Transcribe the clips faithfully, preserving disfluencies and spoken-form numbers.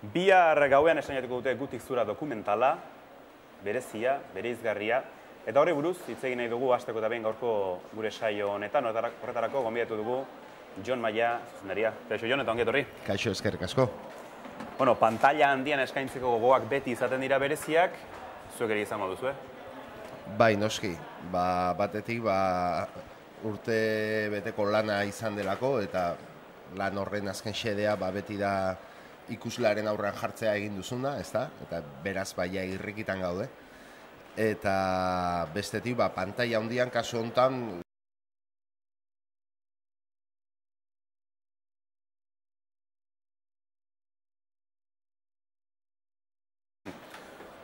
Bihar gauean esainatuko dute Gutik Zura dokumentala, berezia, bereizgarria, eta horri buruz hitz egin nahi dugu hasteko eta behin gaurko gure saio honetan, horretarako gonbidatu dugu Jon Maia, zuzendaria. Kaixo Jon, eta ongi etorri. Kaixo, eskerrik asko. Bueno, pantalla handian eskaintzeko gogoak beti izaten dira bereziak, zuek ere izango duzu, eh? Bai, noski. Ba, batetik, ba, urte beteko lana izan delako, eta lan horren azken xedea ba, beti da ikuslearen aurrean jartzea egin duzuna, ezta? Eta beraz baia irrikitan gaude. Eta bestetik, ba, pantalla handian kasu honetan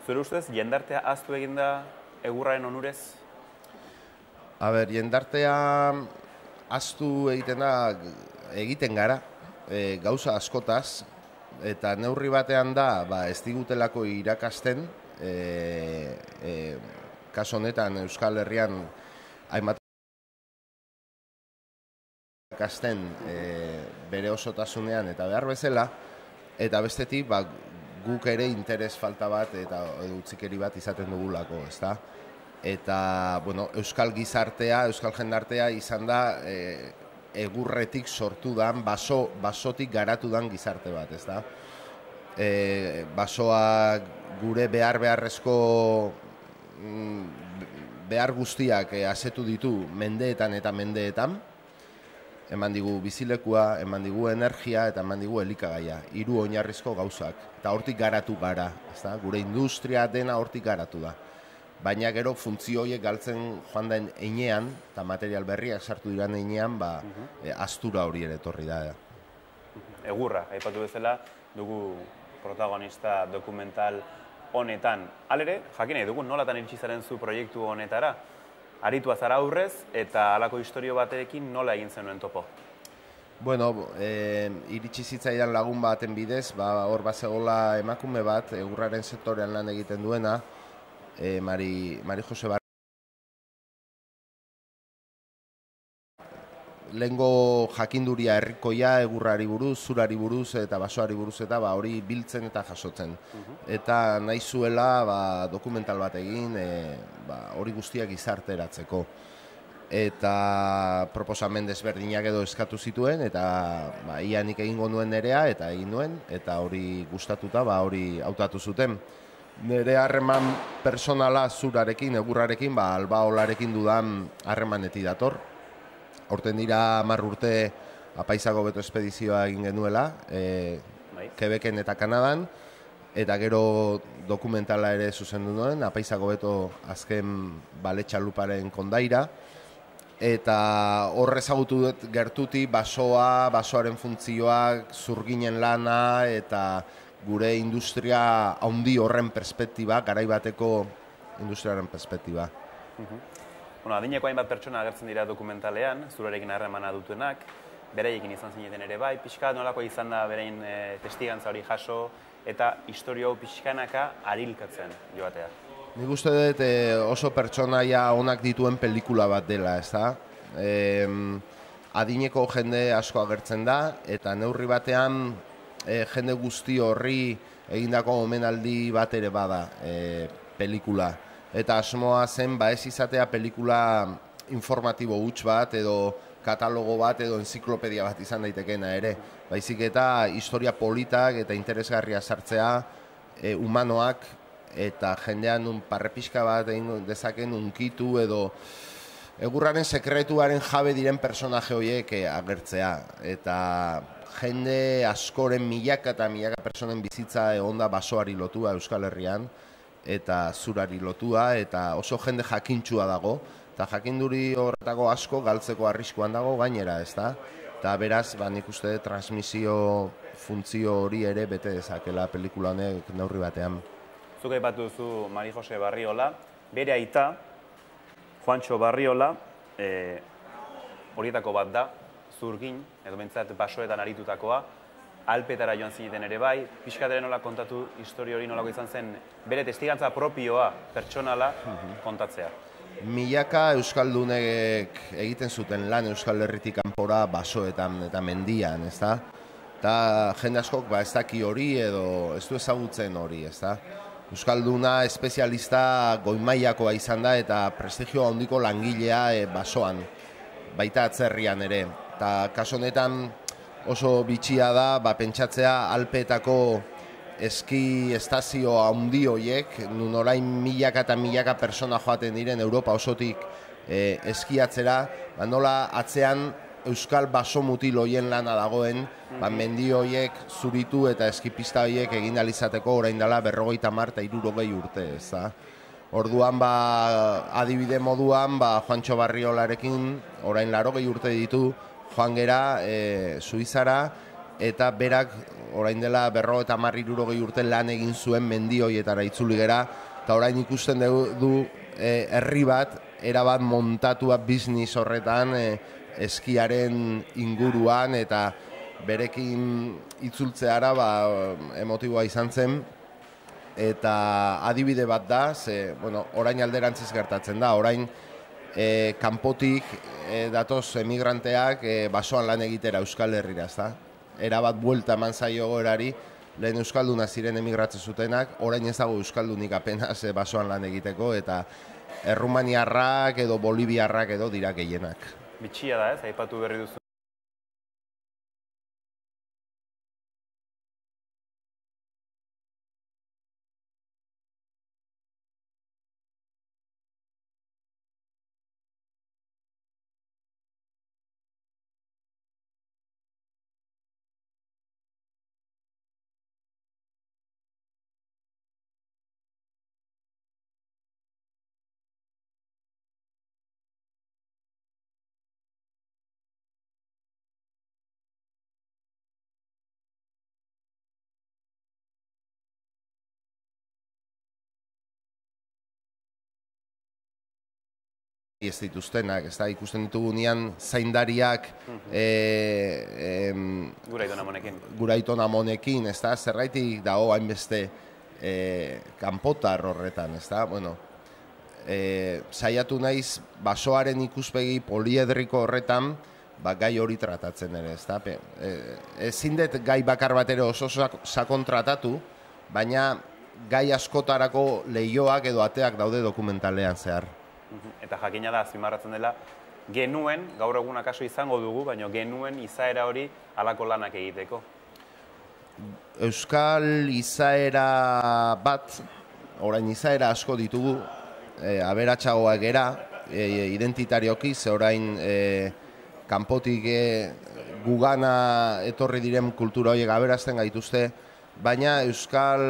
Zure ustez, jendartea ahaztu egin da egurraren onurez? A ber, jendartea ahaztu egiten da, egiten gara, e, gauza askotaz, eta neurri batean da, ba, ez digutelako irakasten, e, e, kasu honetan Euskal Herrian hainbat irakasten e, bere osotasunean eta behar bezala, eta bestetik, ba, guk ere interes falta bat eta utzikeri bat izaten dugulako, ezta? Eta, bueno, euskal gizartea, euskal jendartea izan da e, egurretik sortu dan, baso, basotik garatu dan gizarte bat, ezta? E, basoa gure behar beharrezko behar guztiak e, asetu ditu mendeetan eta mendeetan, eman digu bizilekua, eman digu energia eta eman digu elikagaia, hiru oinarrizko gauzak. Eta hortik garatu gara, ezta? Gure industria dena hortik garatu da. Baina gero funtzio horiek galtzen joan den einean, eta material berriak sartu diran einean, ba, e, astura hori ere etorri da. Egurra, aipatu bezala, dugu protagonista dokumental honetan. Halere, jakin nahi dugu nolatan iritsi zaren zu proiektu honetara? Aritua zara aurrez, eta halako historio batekin nola egin zenuen topo? Bueno, e, iritsi zitzaidan lagun baten bidez, ba, hor bazegola emakume bat, egurraren sektorean lan egiten duena, e, Mari, Mari Jose Bar... Lehengo jakinduria herrikoia, egurrari buruz, zurari buruz eta basoari buruz eta ba, hori biltzen eta jasotzen. Eta nahi zuela ba, dokumental bat egin e, ba, hori guztiak gizarteratzeko. Eta proposamen desberdinak edo eskatu zituen eta ba, ia nik egingo nuen nerea eta egin nuen eta hori gustatuta ba, hori hautatu zuten. Nere harreman personala zurarekin, egurrarekin, ba, albaolarekin dudan harremanetik dator. Horten dira hamar urte apaizago beto espedizioa egin genuela, e, Quebecen eta Kanadan, eta gero dokumentala ere zuzendu nuen, apaizago beto azken baletxaluparen kondaira, eta hor ezagutu dut gertuti basoa, basoaren funtzioak, zurginen lana, eta gure industria handi horren perspektiba, garaibateko industriaren perspektiba. Bueno, adineko hainbat pertsona agertzen dira dokumentalean, zurarekin harremana dutenak, beraiekin izan zineten ere bai, pixka nolako izan da berain e, testigantza hori jaso, eta historio hau pixkanaka arilkatzen joatea. Nik uste dut e, oso pertsonaia onak dituen pelikula bat dela, ez da? E, adineko jende asko agertzen da, eta neurri batean e, jende guzti horri egindako omenaldi bat ere bada e, pelikula. Eta asmoa zen, ba ez izatea pelikula informatibo huts bat, edo katalogo bat, edo enziklopedia bat izan daitekeena ere. Baizik eta historia politak eta interesgarria sartzea, e, humanoak, eta jendean un parrepiska bat egin dezaken unkitu, edo egurraren sekretuaren jabe diren personaje horiek agertzea. Eta jende askoren milaka eta milaka personen bizitza egon da basoari lotua Euskal Herrian, eta zurari lotua, eta oso jende jakintsua dago, eta jakinduri horretako asko galtzeko arriskuan dago gainera, ez da? Eta beraz, ba, nik uste transmisio funtzio hori ere bete dezakela pelikula honek neurri batean. Zuk aipatu duzu Mari Jose Barriola, bere aita, Juantxo Barriola, e, horietako bat da, zurgin, edo bentsat basoetan aritutakoa, Alpetara joan zineten ere bai, pixkateren nola kontatu historio hori nolako izan zen bere testigantza propioa, pertsonala, kontatzea. Milaka euskaldunek egiten zuten lan Euskal Herritik kanpora basoetan eta mendian, ezta? eta jende askok ba, ez daki hori edo ez du ezagutzen hori, ez da. Euskalduna espezialista goimaiakoa izan da eta prestigio handiko langilea e, basoan, baita atzerrian ere. Eta kaso honetan oso bitxia da ba, pentsatzea Alpeetako eski estazio handi horiek, nun orain milaka eta milaka persona joaten diren Europa osotik e, eskiatzera, ba, nola atzean euskal baso mutil hoien lana dagoen, ba, mendi horiek zuritu eta eskipista horiek egin alizateko orain dela berrogeita hamar eta hirurogei urte, ez da. Orduan, ba, adibide moduan, ba, Juantxo Barriolarekin orain larogei urte ditu joan gera e, Suizara, eta berak orain dela berrogeita hamar hirurogei urte lan egin zuen mendi horietara itzuli gera, eta orain ikusten du, du e, herri bat, erabat montatua biznis horretan, e, eskiaren inguruan, eta berekin itzultzeara ba, emotiboa izan zen, eta adibide bat da, ze, bueno, orain alderantziz gertatzen da, orain e, kanpotik e, datoz emigranteak e, basoan lan egitera Euskal Herrira, ezta? Erabat buelta eman zaio gorari, lehen euskalduna ziren emigratzen zutenak, orain ez dago euskaldunik apenas e, basoan lan egiteko, eta errumaniarrak edo boliviarrak edo dira gehienak. Bitxia da ez, aipatu berri duzu. Ez dituztenak, ez da, ikusten ditugu nian zaindariak e, e, Guraiton Amonekin. Guraiton Amonekin, ez da, zerraitik dago hainbeste e, kanpotar horretan, ez da, bueno, e, saiatu naiz basoaren ikuspegi poliedriko horretan, ba, gai hori tratatzen ere, ez da, e, ezin dut gai bakar bat ere oso sakon tratatu, baina gai askotarako lehioak edo ateak daude dokumentalean zehar. Eta jakina da, azpimarratzen dela, genuen, gaur egun akaso izango dugu, baina genuen izaera hori halako lanak egiteko. Euskal izaera bat, orain izaera asko ditugu, e, aberatsagoak gera, e, identitarioki, ze orain e, kanpotik e, gugana etorri diren kultura horiek aberazten gaituzte, baina Euskal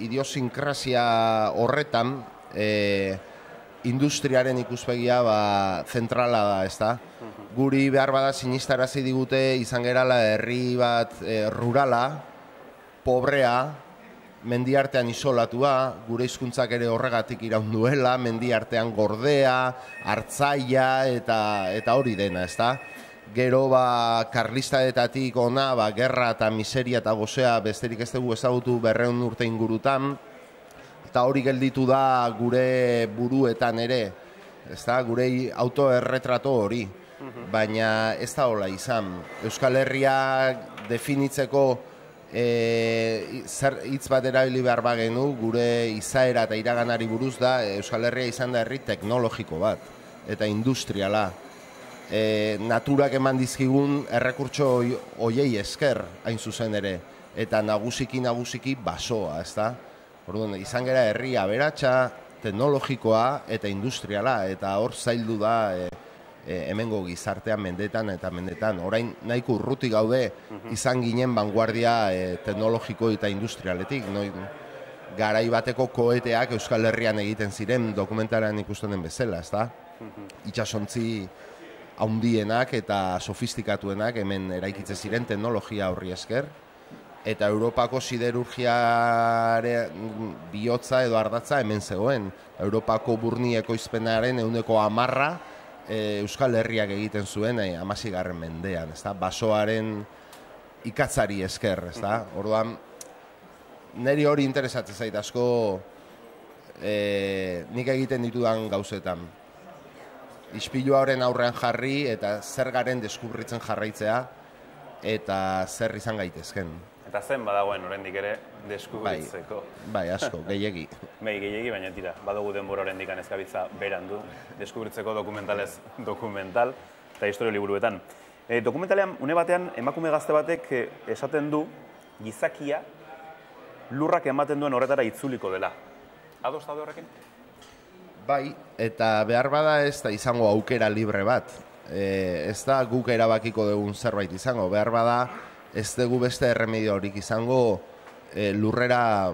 idiosinkrasia horretan, e, industriaren ikuspegia ba, zentrala da, ez da? Guri behar bada sinistarazi digute izan gerala herri bat e, rurala, pobrea, mendiartean isolatua, gure hizkuntzak ere horregatik iraun duela, mendiartean gordea, hartzaia eta, eta hori dena, ez da? Gero ba, karlistaetatik ona, ba, gerra eta miseria eta gozea besterik ez dugu ezagutu berrehun urte ingurutan, eta hori gelditu da gure buruetan ere, ez da, gure autoerretrato hori, baina ez da hola izan. Euskal Herria definitzeko e, zer hitz bat erabili behar bagenu, gure izaera eta iraganari buruz da, Euskal Herria izan da herri teknologiko bat, eta industriala. E, naturak eman dizkigun errekurtso hoiei esker hain zuzen ere, eta nagusiki nagusiki basoa, ez da? Orduan, izan gera herri aberatsa, teknologikoa eta industriala, eta hor zaildu da e, e, hemengo gizartean mendetan eta mendetan. Orain nahiko urruti gaude izan ginen vanguardia e, teknologiko eta industrialetik. No, garai bateko koeteak Euskal Herrian egiten ziren dokumentalean ikusten den bezala, ezta? Itsasontzi handienak eta sofistikatuenak hemen eraikitzen ziren teknologia horri esker. Eta Europako siderurgiaren bihotza edo ardatza hemen zegoen. Europako burni ekoizpenaren ehuneko hamarra e, Euskal Herriak egiten zuen e, hamaseigarren mendean, ezta? Basoaren ikatzari esker, ezta? Orduan, niri hori interesatzen zait asko e, nik egiten ditudan gauzetan. Ispilua horren aurrean jarri eta zer garen deskubritzen jarraitzea, eta zer izan gaitezken. Eta zen badagoen oraindik ere deskubritzeko. Bai, bai asko, gehiegi. Bai, gehiegi, baina tira, badugu denbora oraindik ezkabitza berandu, deskubritzeko dokumentalez dokumental eta historia liburuetan. E, dokumentalean, une batean, emakume gazte batek esaten du gizakia lurrak ematen duen horretara itzuliko dela. Ados daude horrekin? Bai, eta behar bada ez da izango aukera libre bat. E, ez da guk erabakiko dugun zerbait izango. Behar bada ez dugu beste erremedio horik izango e, lurrera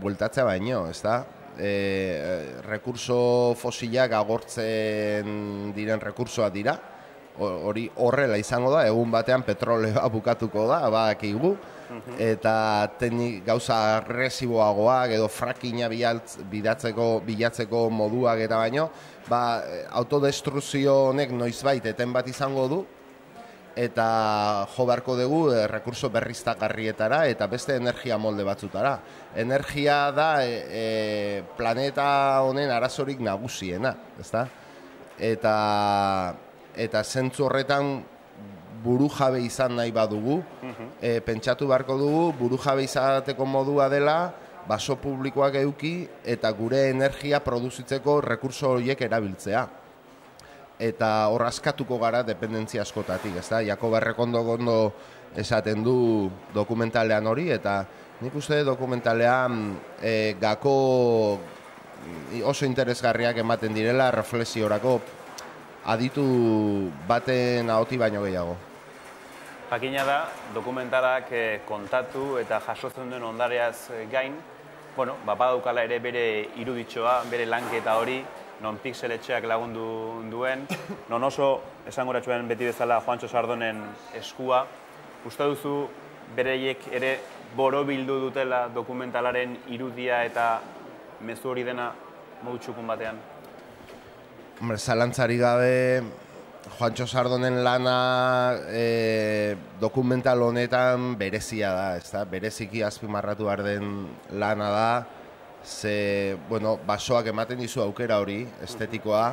bueltatzea baino, ez da? E, rekurso fosilak agortzen diren rekursoa dira. Hori horrela izango da, egun batean petroleoa bukatuko da, badakigu. Eta teknik gauza agresiboagoak edo frackinga bilatzeko, bilatzeko moduak eta baino, ba, autodestruzio honek noizbait eten bat izango du, eta jo beharko dugu e, rekurso berriztagarrietara eta beste energia molde batzutara. Energia da e, e, planeta honen arazorik nagusiena, ezta? Eta, eta zentzu horretan burujabe izan nahi badugu, e, pentsatu beharko dugu burujabe izateko modua dela baso publikoak eduki eta gure energia produzitzeko rekurso horiek erabiltzea. Eta hor askatuko gara dependentzia askotatik, ez da? Jakob Errekondo gondo esaten du dokumentalean hori, eta nik uste dokumentalean e, gako oso interesgarriak ematen direla reflexiorako aditu baten ahoti baino gehiago. Jakina da, dokumentalak kontatu eta jasotzen duen ondareaz gain, bueno, badaukala ere bere iruditxoa, bere lanketa hori, non pixeletxeak lagundu duen, non oso esangoratxuen beti bezala Juantxo Sardonen eskua. Uste duzu bereiek ere borobildu dutela dokumentalaren irudia eta mezu hori dena modu txukun batean? Hombre, zalantzari gabe, Juantxo Sardonen lana e, dokumental honetan berezia da, ez da? Bereziki azpimarratu behar den lana da, ze, bueno, basoak ematen dizu aukera hori, estetikoa,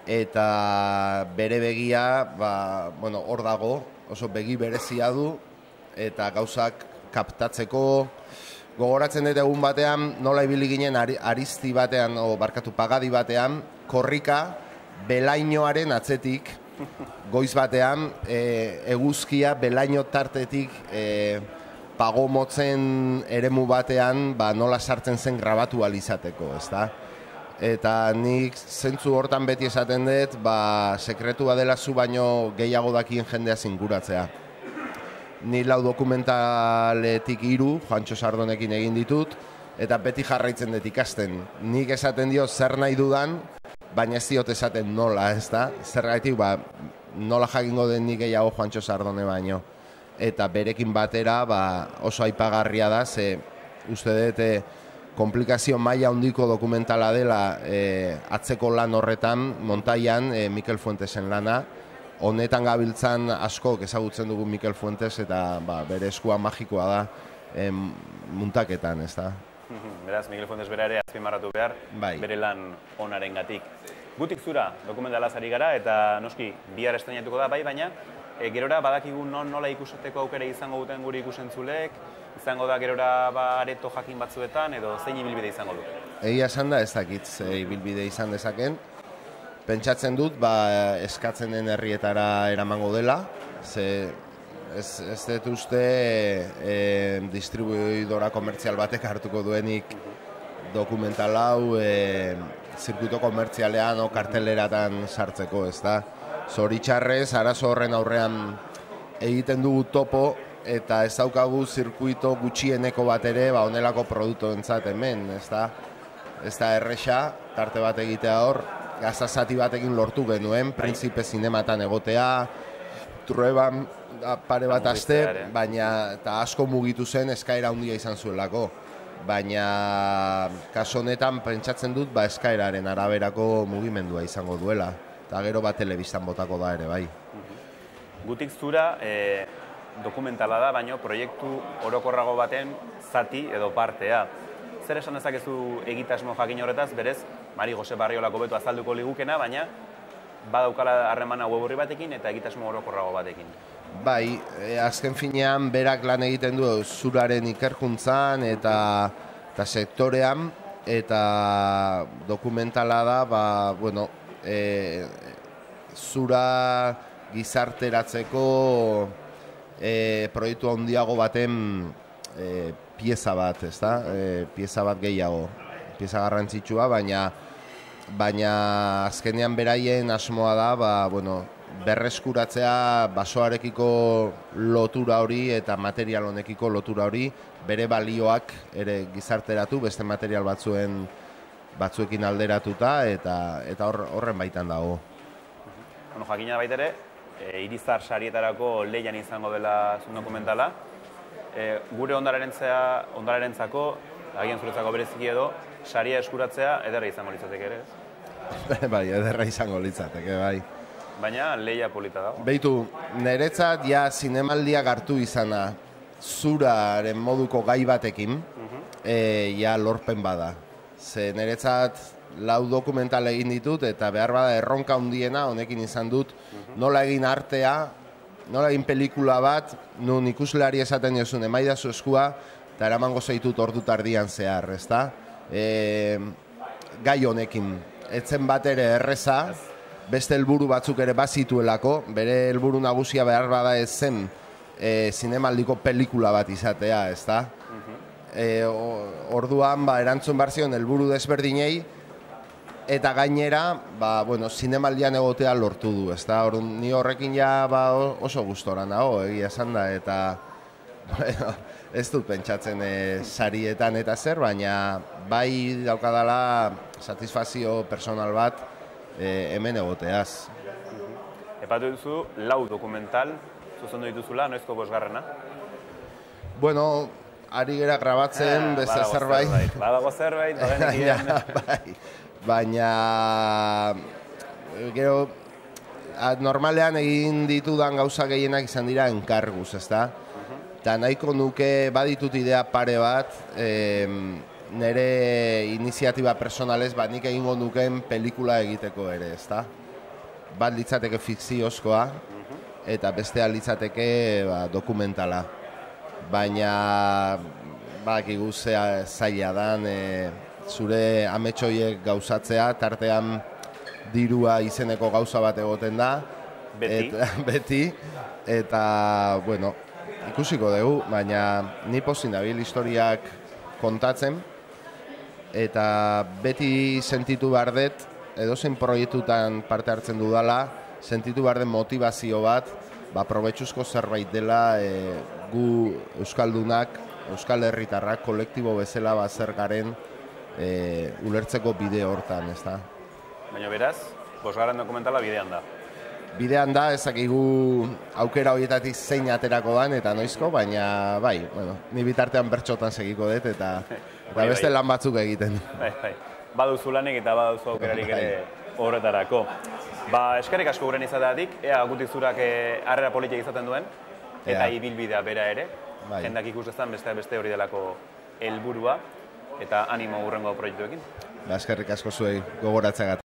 eta bere begia, ba, bueno, hor dago, oso begi berezia du, eta gauzak kaptatzeko, gogoratzen dut egun batean, nola ibili ginen aristi batean, o barkatu pagadi batean, korrika, belainoaren atzetik, goiz batean, e, eguzkia belaino tartetik e, pagomotzen eremu batean, ba, nola sartzen zen grabatu alizateko, ez da? Eta nik zentzu hortan beti esaten dut, ba, sekretua dela zu baino gehiago dakien jendea zinguratzea. Ni lau dokumentaletik hiru, Juantxo Sardonekin egin ditut, eta beti jarraitzen dut ikasten. Nik esaten dio zer nahi dudan, baina ez diot esaten nola, ez da? Zergatik, ba, nola jakingo den nik gehiago Juantxo Sardone baino. Eta berekin batera, ba, oso aipagarria da, ze uste dut e, komplikazio maila handiko dokumentala dela e, atzeko lan horretan, Montaian, e, Mikel Fuentesen lana. Honetan gabiltzan askok ezagutzen dugu Mikel Fuentes, eta ba, bere eskua magikoa da e, muntaketan, ez da? Beraz, Mikel Fuentes bera ere azpimarratu behar, bai, bere lan onaren gatik. Gutik zura dokumentalaz ari gara, eta noski bihar estreinatuko da, bai, baina e, gerora badakigu non nola ikusateko aukera izango duten guri ikusentzulek, izango da gerora ba, areto jakin batzuetan, edo zein ibilbide izango du? Egia esan da ez dakit ze ibilbide izan dezaken. Pentsatzen dut, ba, eskatzen den herrietara eramango dela, ze Ez, ez dut uste e, distribuidora komertzial batek hartuko duenik dokumental hau e, zirkuito komertzialean o karteleratan sartzeko, ez da? Zoritxarrez, arazo horren aurrean egiten dugu topo eta ez daukagu zirkuito gutxieneko bat ere ba, onelako produktu entzat hemen, ez da? Ez da erresa, tarte bat egitea hor, gazazati batekin lortu genuen, Printzipe Zinematan egotea, Trueban pare bat aste, baina eta asko mugitu zen eskaera handia izan zuelako. Baina kaso honetan pentsatzen dut ba eskaeraren araberako mugimendua izango duela. Eta gero bat telebistan botako da ere, bai. Gutik zura e, dokumentala da, baina proiektu orokorrago baten zati edo partea. Zer esan dezakezu egitasmo jakin horretaz, berez, Mari Jose Barriolako beto azalduko ligukena, baina badaukala harremana web orri batekin eta egitasmo orokorrago batekin. Bai, e, azken finean berak lan egiten du zuraren ikerkuntzan eta, eta sektorean, eta dokumentala da, ba, bueno, e, zura gizarteratzeko e, proiektu handiago baten e, pieza bat, ezta? E, pieza bat gehiago, pieza garrantzitsua, baina baina azkenean beraien asmoa da, ba, bueno, berreskuratzea basoarekiko lotura hori eta material honekiko lotura hori, bere balioak ere gizarteratu, beste material batzuen batzuekin alderatuta, eta eta hor, horren baitan dago. Bueno, jakina baita ere, e, Irizar sarietarako lehian izango dela zuen dokumentala. E, gure ondararentzea, ondararentzako, agian zuretzako bereziki edo, saria eskuratzea ederra izango litzateke ere, ez? Bai, ederra izango litzateke, bai. Baina lehia polita dago. Beitu, niretzat ja zinemaldiak hartu izana zuraren moduko gai batekin, e, ja lorpen bada. Ze niretzat lau dokumental egin ditut eta behar bada erronka handiena honekin izan dut, nola egin artea, nola egin pelikula bat, nun ikuslari esaten jozun, emaidazu eskua, eta eramango zaitut ordu tardian zehar, ezta? E, gai honekin, etzen bat ere erreza, beste helburu batzuk ere bazituelako, bere helburu nagusia behar bada ez zen e, zinemaldiko pelikula bat izatea, ezta? E, orduan, ba, erantzun barzion helburu desberdinei, eta gainera, ba, bueno, zinemaldian egotea lortu du, ezta? Orduan, ni horrekin ja ba, oso gustora nago, egia esan da, eta bueno, ez dut pentsatzen e, sarietan eta zer, baina bai daukadala satisfazio personal bat e, hemen egoteaz. Epatu duzu, lau dokumental zuzendu dituzula, noizko bosgarrena? Bueno, ari gera grabatzen, ah, beste zerbait. Badago zerbait, badenekin. Bai, baina, gero, normalean egin ditudan gauza gehienak izan dira enkarguz, ezta? Eta nahiko nuke baditut idea pare bat, e, nire iniziatiba personalez, bat nik egingo nuken pelikula egiteko ere, ezta? Bat litzateke fikziozkoa, eta bestea litzateke ba, dokumentala. Baina, badakigu zea zaila dan, e, zure ametsoiek gauzatzea, tartean dirua izeneko gauza bat egoten da. Beti. Eta, beti, eta, bueno, ikusiko dugu, baina ni pozin dabil historiak kontatzen, eta beti sentitu behar dut, edozein proiektutan parte hartzen dudala, sentitu behar den motivazio bat, ba, probetxuzko zerbait dela e, gu Euskaldunak, Euskal Herritarrak, kolektibo bezala bat zer garen e, ulertzeko bide hortan, ez da? Baina beraz, bosgarren dokumentala bidean da. Bidean da, ezakigu aukera horietatik zein aterako dan eta noizko, baina bai, bueno, ni bitartean bertxotan segiko dut eta, eta bai, beste bai. lan batzuk egiten. Bai, bai. Baduzu lanik eta baduzu aukerarik ere horretarako. Ba, eskerrik asko guren izateatik, ea gutizurak harrera politia izaten duen, eta Ea. ibilbidea bera ere, Bai. jendak ikus dezan beste beste hori delako helburua, eta animo hurrengo proiektuekin. Ba, eskerrik asko zuei gogoratzeagatik.